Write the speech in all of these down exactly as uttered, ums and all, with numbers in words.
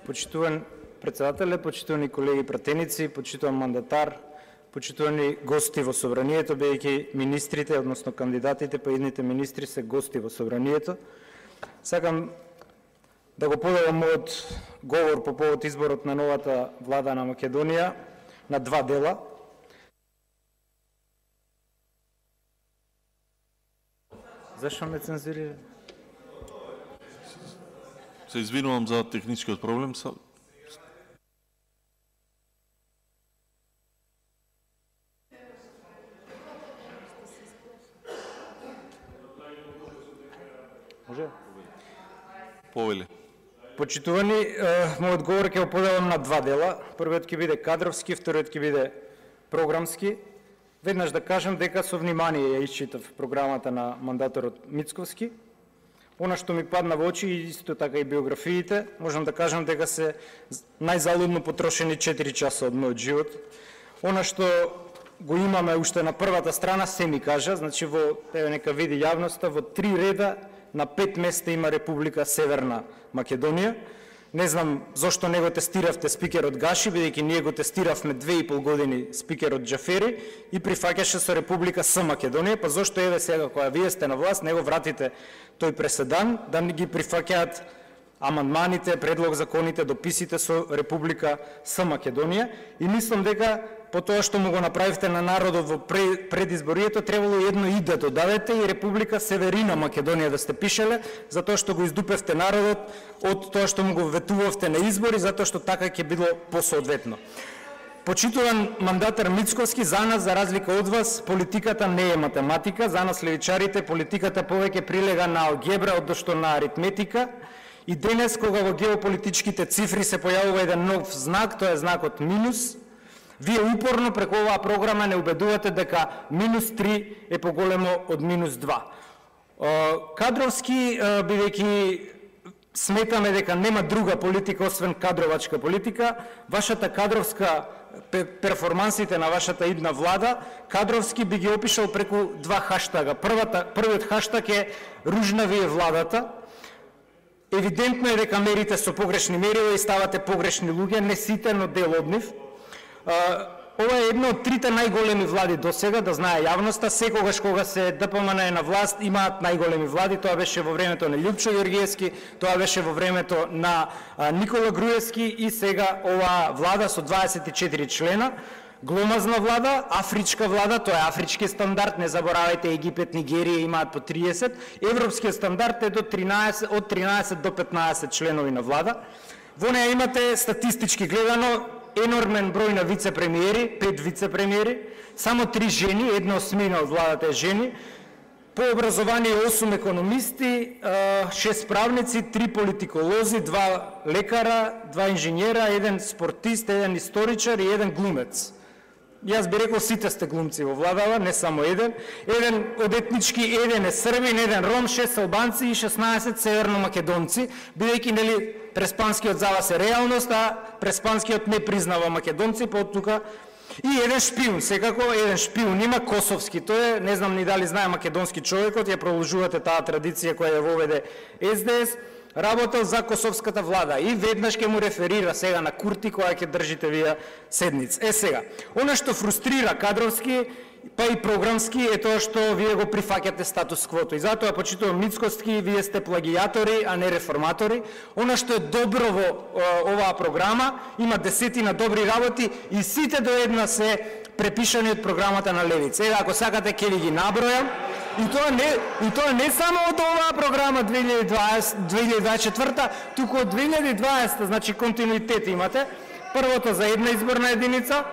Почитуван председателе, почитувани колеги пратеници, почитуван мандатар, почитувани гости во собранието, бидејќи министрите, односно кандидатите, па идните министри се гости во собранието. Сакам да го поделам мојот говор по повод изборот на новата влада на Македонија на два дела. Зашто ме цензурира? Се извинувам за техничкиот проблем. Може? Повеле. Почитувани, мојот говор ќе го поделам на два дела. Првиот ќе биде кадровски, вториот ќе биде програмски. Веднаш да кажам дека со внимание ја исчитав програмата на мандаторот Мицковски. Она што ми падна во очи, и исто така и биографиите, можам да кажам дека се најзалудно потрошени четири часа од мојот живот. Она што го имаме уште на првата страна, се ми кажа, значи во, еве нека види јавноста, во три реда на пет места има Република Северна Македонија. Не знам зошто не го тестиравте спикерот Гаши, бидејќи ние го тестиравме две и пол години спикерот Џафери и прифаќаше со Република С Македонија, па зошто еве сега кога вие сте на власт, не го вратите тој преседан, да не ги прифаќаат амандманите, предлог законите, дописите со Република С Македонија. И мислам дека по тоа што му го направивте на народот во предизборието, требало едно и да додадете и Република Северина Македонија да сте пишеле, затоа што го издупевте народот од тоа што му го ветувавте на избори, затоа што така ќе било посоодветно. Почитуван мандатар Мицковски, за нас, за разлика од вас, политиката не е математика, за нас левичарите политиката повеќе прилега на алгебра одошто на аритметика. И денес, кога во геополитичките цифри се појавува еден нов знак, тоа е знакот минус, вие упорно преку оваа програма не убедувате дека минус три е поголемо од минус два. Кадровски, бидејќи сметаме дека нема друга политика освен кадровачка политика, вашата кадровска перформансите на вашата идна влада, кадровски би ги опишал преку два хаштага. Првата, првиот хаштаг е ружна ви е владата. Евидентно е дека мерите со погрешни мерила и ставате погрешни луѓе, не сите, но дел од нив. Ова е една од трите најголеми влади до сега, да знае јавноста. Секогаш кога се ДПМН е на власт, имаат најголеми влади. Тоа беше во времето на Љупчо Ѓоргиевски, тоа беше во времето на Никола Груевски и сега оваа влада со дваесет и четири члена. Гломазна влада, афричка влада, тоа е афрички стандард, не заборавајте, Египет, Нигерија имаат по триесет. Европскиот стандард е до тринаесет, од тринаесет до петнаесет членови на влада. Во неја имате статистички гледано енормен број на вице-премиери, пет вице-премиери, само три жени, една осмина од владата е жени, по образование осум економисти, шест правници, три политиколози, два лекара, два инженера, еден спортист, еден историчар и еден глумец. Јас би рекол сите сте глумци во владава, не само еден. Еден од етнички, еден е србин, еден ром, шест албанци и шеснаесет северно-македонци, бидејќи нели преспанскиот за вас е реалност, а преспанскиот не признава македонци, па од тука и еден шпион, секако еден шпион има косовски, тој е, не знам ни дали знае македонски човекот, ја продолжувате таа традиција која ја воведе С Д С, работел за косовската влада и веднаш ќе му реферира сега на Курти која ќе држите вие седница. Е сега, она што фрустрира кадровски, па и програмски е тоа што вие го прифаќате статус квото. И затоа почитувам Мицковски, вие сте плагијатори, а не реформатори. Она што е добро во оваа програма, има десетина добри работи и сите до една се препишани од програмата на Левица. Еве, ако сакате ќе ви ги набројам. И тоа не, и тоа не само од оваа програма две илјади дваесет и четврта, туку од две илјади дваесета, значи континуитет имате. Првото за една изборна единица,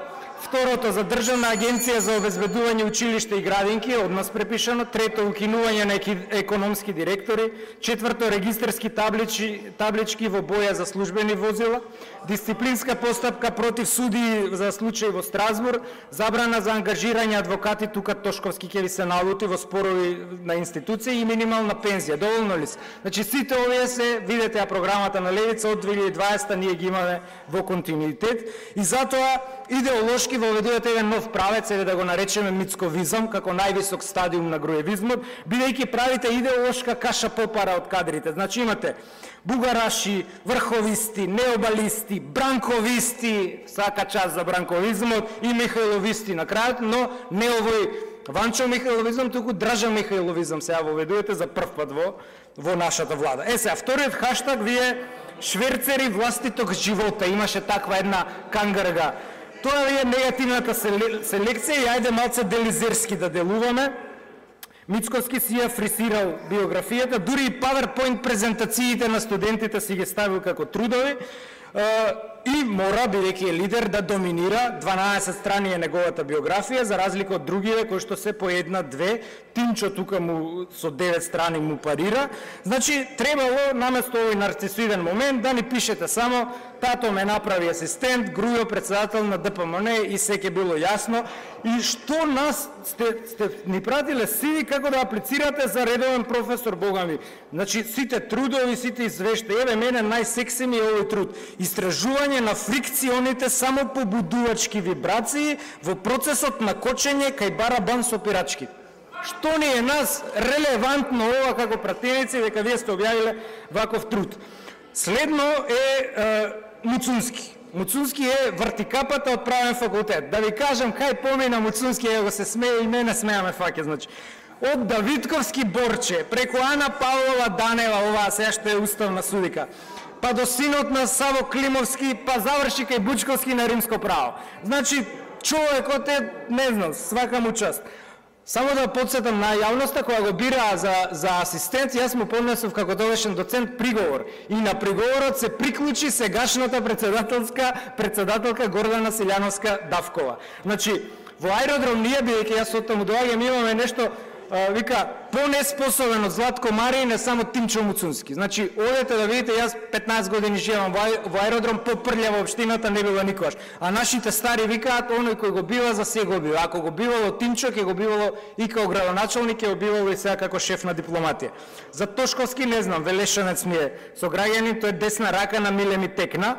второто за Државна агенција за обезбедување училишта и градинки, од нас препишано, трето укинување на економски директори, четврто регистарски таблички, таблички во боја за службени возила, дисциплинска постапка против суди за случај во Страсбург, забрана за ангажирање адвокати, тука Тошковски ќе ви се налути во спорови на институции и минимална пензија. Доволно ли се? Значи сите овие се, видете ја програмата на Левица од две илјади дваесета ние ги имаме во континуитет и затоа идеолошки идеолошки воведувате еден нов правец, или да го наречеме мицковизам, како највисок стадиум на груевизмот, бидејќи правите идеолошка каша попара од кадрите. Значи имате бугараши, врховисти, необалисти, бранковисти, сака част за бранковизмот, и михајловисти на крајот, но не овој Ванчо Михајловизам, туку Дражан Михајловизам сега воведувате за прв пат во, во нашата влада. Е сега, вториот хаштаг ви е шверцери властиток живота. Имаше таква една кангарга. Тоа е негативната селекција и ајде малце делизерски да делуваме. Мицковски си ја фрисирал биографијата, дури и PowerPoint презентациите на студентите си ги ставил како трудови, и мора, бидејќи е лидер, да доминира. дванаесет страни е неговата биографија, за разлика од другите кои што се по една-две. Тимчо тука му со девет страни му парира. Значи, требало наместо овој нарцисоиден момент да ни пишете само тато ме направи асистент, Грујо председател на Д П М Н и се ќе било јасно. И што нас сте, сте ни пратиле сиви како да аплицирате за редовен професор, бога ми. Значи, сите трудови, сите извештаи, еве мене најсекси ми е овој труд. Истражување на фрикционите само побудувачки вибрации во процесот на кочење кај барабан со пирачки. Што ни е нас релевантно ова како пратеници дека вие сте објавиле ваков труд? Следно е, е Муцунски. Муцунски е вртикапата од правен факултет. Да ви кажам кај помина Муцунски, его се смее и мене смеаме факе, значи. Од Давидковски Борче, преку Ана Павлова Данева, оваа сега што е уставна судика, па до синот на Саво Климовски, па заврши кај Бучковски на римско право. Значи, човекот е, не знам, свака му част. Само да подсетам на јавноста, кога го бираа за, за асистент, јас му поднесов како довешен доцент приговор. И на приговорот се приклучи сегашната председателска председателка Гордана Силјановска Давкова. Значи, во аеродром ние, бидејќи јас оттаму доаѓам, имаме нешто, а, вика, по-неспособен од Златко Марин е само Тимчо Муцунски. Значи, одете да видите, јас петнаесет години живеам во аеродром, попрљава општината не била никогаш. А нашите стари викаат, оној кој го бива, за се го бива. Ако го бивало Тимчо, ќе го бивало и како градоначалник, ќе го бивало и сега како шеф на дипломатија. За Тошковски не знам, Велешанец ми е сограѓанин, тој е десна рака на Милеми Текна.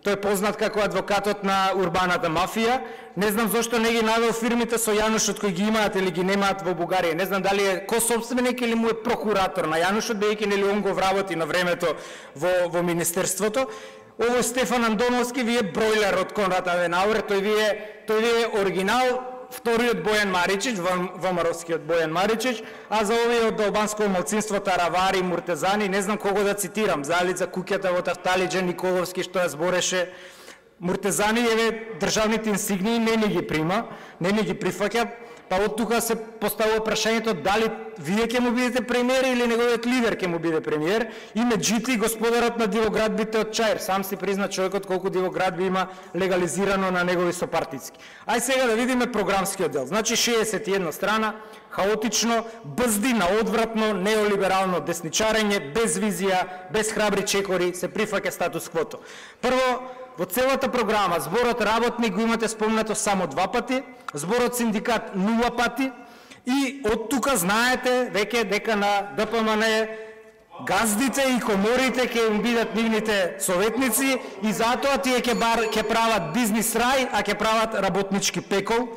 Тој е познат како адвокатот на урбаната мафија. Не знам зошто не ги навел фирмите со Јанушот кои ги имаат или ги немаат во Бугарија. Не знам дали е кособственик или му е прокуратор на Јанушот, бидејќи нели он го вработи на времето во, во министерството. Овој Стефан Андоновски ви е бройлер од Конрад Аденауер, тој ви е, тој ви е оригинал, вториот Бојан Маричич, ВМРО-скиот Бојан Маричич, а за овие од албанско малцинство Таравари, Муртезани, не знам кого да цитирам, Залица Куќата во Тафталиџа, Николовски што ја збореше. Муртезани еве државните инсигнии не ни ги прима, не ни ги прифаќа, па од тука се поставува прашањето дали вие ќе му бидете премиер или неговиот лидер ќе му биде премиер. И меѓутоа господарот на дивоградбите од Чаир, сам си призна човекот колку дивоградби има легализирано на негови сопартицки. Ај сега да видиме програмскиот дел. Значи шеесет и една страна, хаотично, бзди на одвратно, неолиберално десничарење, без визија, без храбри чекори, се прифаќа статус квото. Прво, во целата програма зборот работник го имате спомнато само два пати, зборот синдикат нула пати и од тука знаете веќе дека на Д П М Н газдите и коморите ќе им бидат нивните советници и затоа тие ќе ќе прават бизнис рај, а ќе прават работнички пекол.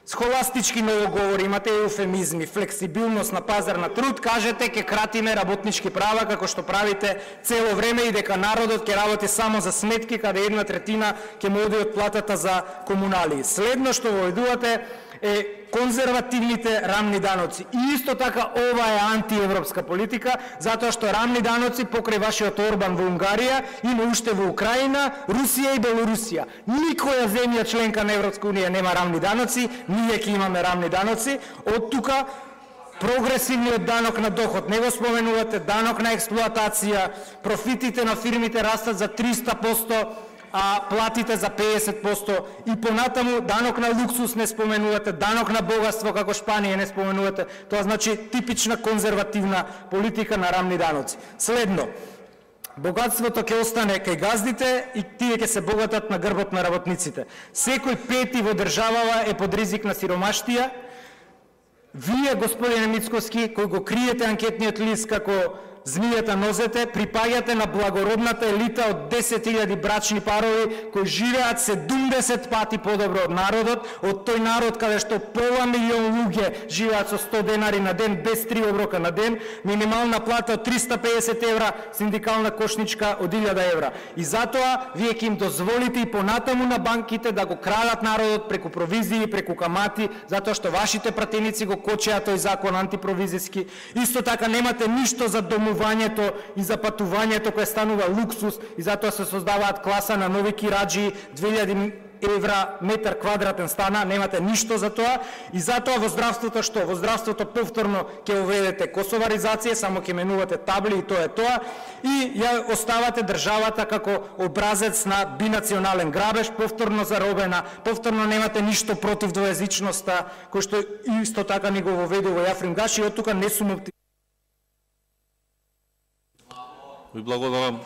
Схоластички новоговори, имате еуфемизми, флексибилност на пазар на труд, кажете ќе кратиме работнички права како што правите цело време и дека народот ќе работи само за сметки каде една третина ќе му оди од платата за комунали. Следно што воведувате е конзервативните рамни даноци. И исто така ова е антиевропска политика, затоа што рамни даноци покрај вашиот Орбан во Унгарија има уште во Украина, Русија и Белорусија. Никоја земја членка на Европска унија нема рамни даноци, ние ќе имаме рамни даноци. Од тука прогресивниот данок на доход, не го споменувате, данок на експлоатација, профитите на фирмите растат за триста проценти, а платите за педесет проценти и понатаму данок на луксус не споменувате, данок на богатство како Шпанија не споменувате. Тоа значи типична конзервативна политика на рамни даноци. Следно, богатството ќе остане кај газдите и тие ќе се богатат на грбот на работниците. Секој пети во државава е под ризик на сиромаштија. Вие, господине Мицковски, кој го криете анкетниот лист како змијата нозете, припаѓате на благородната елита од десет илјади брачни парови кои живеат седумдесет пати подобро од народот, од тој народ каде што пола милион луѓе живеат со сто денари на ден, без три оброка на ден, минимална плата од триста пеесет евра, синдикална кошничка од илјада евра. И затоа вие ќе им дозволите и понатаму на банките да го крадат народот преку провизии, преку камати, затоа што вашите пратеници го кочеа тој закон антипровизиски. Исто така немате ништо за домувањето и за патувањето кое станува луксус и затоа се создаваат класа на нови кираџи, две илјади евра метар квадратен стана, немате ништо за тоа. И затоа во здравството што? Во здравството повторно ќе уведете косоваризација, само ќе менувате табли и тоа е тоа. И ја оставате државата како образец на бинационален грабеж, повторно заробена, повторно немате ништо против двојазичноста, кој што исто така ни го воведува Јафрим Гаши, и од тука не сум оптимист. Ви благодарам.